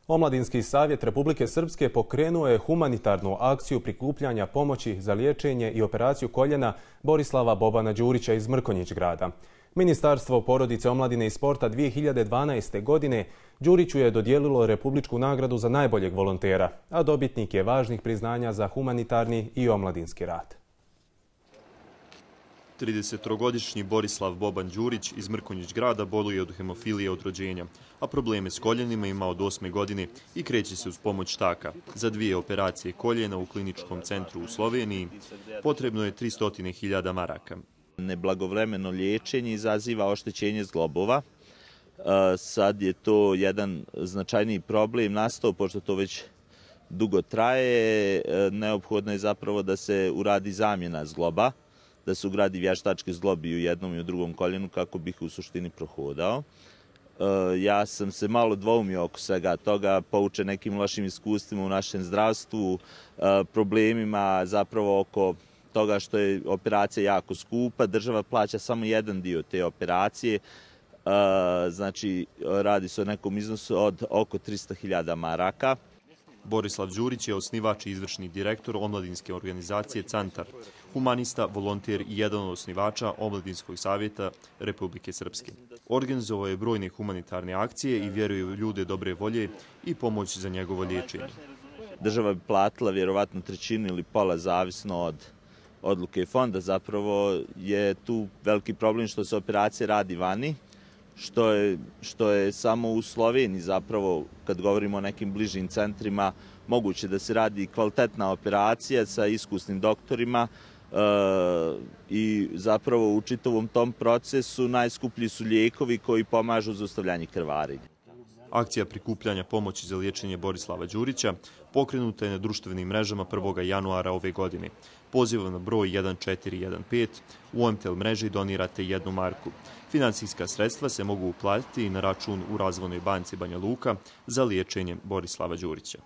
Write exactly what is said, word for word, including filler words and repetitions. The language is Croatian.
Omladinski savjet Republike Srpske pokrenuo je humanitarnu akciju prikupljanja pomoći za liječenje i operaciju koljena Borislava Bobana Đurića iz Mrkonjić grada. Ministarstvo porodice, omladine i sporta dvije hiljade dvanaeste. godine Đuriću je dodijelilo republičku nagradu za najboljeg volontera, a dobitnik je važnih priznanja za humanitarni i omladinski rad. tridesetogodišnji Borislav Boban Đurić iz Mrkonjić grada boluje od hemofilije od rođenja, a probleme s koljenima ima od osme godine i kreće se uz pomoć štaka. Za dvije operacije koljena u kliničkom centru u Sloveniji potrebno je tristo hiljada maraka. Neblagovremeno liječenje izaziva oštećenje zglobova. Sad je to jedan značajniji problem nastao, pošto to već dugo traje. Neophodno je zapravo da se uradi zamjena zgloba, da se ugradi vještački zglob i u jednom i u drugom koljenu kako bih u suštini prohodao. Ja sam se malo dvoumio oko svega toga, poučen nekim lošim iskustvima u našem zdravstvu, problemima zapravo oko toga što je operacija jako skupa. Država plaća samo jedan dio te operacije, znači radi se o nekom iznosu od oko tristo hiljada maraka. Borislav Đurić je osnivač i izvršni direktor omladinske organizacije Cantar, humanista, volonter i jedan od osnivača Omladinskog savjeta Republike Srpske. Organizovao je brojne humanitarne akcije i vjeruje u ljude dobre volje i pomoć za njegovo liječenje. Država bi platila vjerovatno trećinu ili pola, zavisno od odluke fonda. Zapravo je tu veliki problem što se operacije radi vani, što je, što je samo u Sloveniji zapravo, kad govorimo o nekim bližim centrima, moguće da se radi kvalitetna operacija sa iskusnim doktorima e, i zapravo u čitavom tom procesu najskuplji su lijekovi koji pomažu za zaustavljanje krvarenja. Akcija prikupljanja pomoći za liječenje Borislava Đurića pokrenuta je na društvenim mrežama prvog januara ove godine. Pozivam na broj jedan četiri jedan pet, u O M T L mreži donirate jednu marku. Finansijska sredstva se mogu uplatiti i na račun u Razvojnoj banci Banja Luka za liječenje Borislava Đurića.